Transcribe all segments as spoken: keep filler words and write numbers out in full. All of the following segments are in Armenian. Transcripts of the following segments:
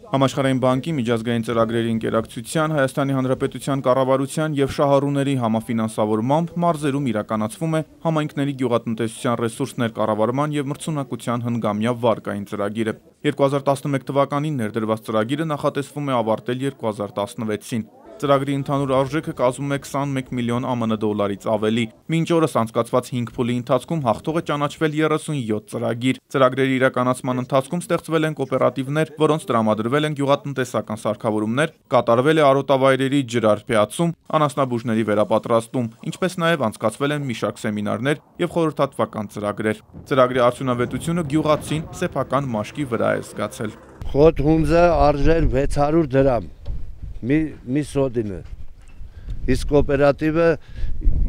Համաշխարհային բանկի միջազգային ծրագրերի ընկերակցության, Հայաստանի Հանրապետության կառավարության եւ շահառուների համաֆինանսավորմամբ մարզերում իրականացվում է համայնքների գյուղատնտեսության ռեսուրսներ կառավարման եւ մրցունակության հնգամյա վարկային ծրագիրը։ երկու հազար տասնմեկ թվականին ներդրված ծրագիրը նախատեսվում է ավարտել երկու հազար տասնվեցին։ Ծրագրի ընդհանուր արժեքը կազմում է քսանմեկ միլիոն ԱՄՆ դոլարից ավելի։ Մինչ օրս անցկացված հինգ փուլի ընթացքում հաղթող է ճանաչվել երեսունյոթ ծրագիր։ Ծրագրերի իրականացման ընթացքում ստեղծվել են կոոպերատիվներ, որոնց տրամադրվել են գյուղատնտեսական սարքավորումներ, կատարվել է արոտավայրերի ջրարբեացում, անասնաբուժների վերապատրաստում, ինչպես նաև անցկացվել են մի շարք սեմինարներ եւ խորհրդատվական ծրագրեր։ Ծրագրի արդյունավետությունը գյուղացին սեփական մաշկի վրա է զգացել։ Խոտ հունձը արժեր վեց հարյուր դրամ։ Մի, մի սոդինը, իսկ կոոպերատիվը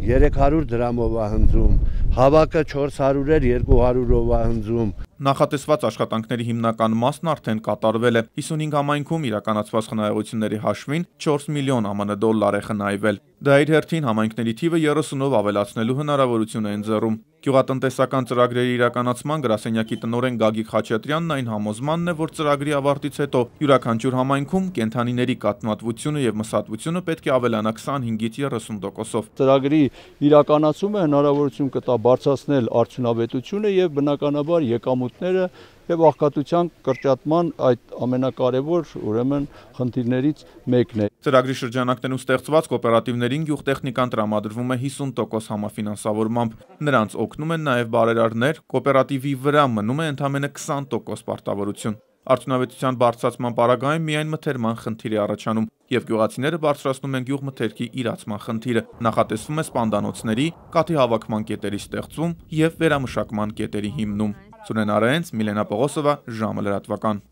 երեք հարյուր դրամով է հնձում, հավաքը չորս հարյուր էր երկու հարյուրով է հնձում։ Նախատեսված աշխատանքների հիմնական մասն արդեն կատարվել է։ հիսունհինգ համայնքում իրականացված խնայողությունների հաշվին չորս միլիոն ԱՄՆ դոլար է խնայվել։ Դա իր հերթին համայնքների թիվը երեսունով ավելացնելու հնարավորություն է ընձեռում։ Գյուղատնտեսական ծրագրերի իրականացման գրասենյակի տնօրեն Գագիկ Խաչատրյանն այն համոզմանն է, որ ծրագրի ավարտից հետո յուրաքանչյուր համայնքում կենդանիների կաթնատվությունը եւ մսատվությունը պետք է ավելանա քսանհինգից երեսուն տոկոսով։ Ծրագրի իրականացումը հնարավորություն կտա բարձրացնել արդյունավետությունը եւ բնականաբար եկամուտները եւ աղքատության կրճատման այդ ամենակարևոր ուրեմն խնդիրներից մեկն է։ Ծրագրի շրջանակներում ստեղծված կոոպերատիվներին գյուղտեխնիկան տրամադրվում է հիսուն տոկոս համաֆինանսավորմամբ։ Նրանց օգնում են նաև բարերարներ, կոոպերատիվի վրա մնում է ընդամենը քսան տոկոս պարտավորություն։ Արդյունավետության բարձրացման պարագայում միայն մթերման խնդիր է առաջանում եւ գյուղացիները բարձրացնում են գյուղմթերքի իրացման խնդիրը։ Նախատեսվում է սպանդանոցների, կաթի հավաքման կետերի ստեղծում եւ վերամշակման կետերի հիմնում։ Սուրեն Արայենց, Միլենա Պողոսովա, ժամը լրատվական։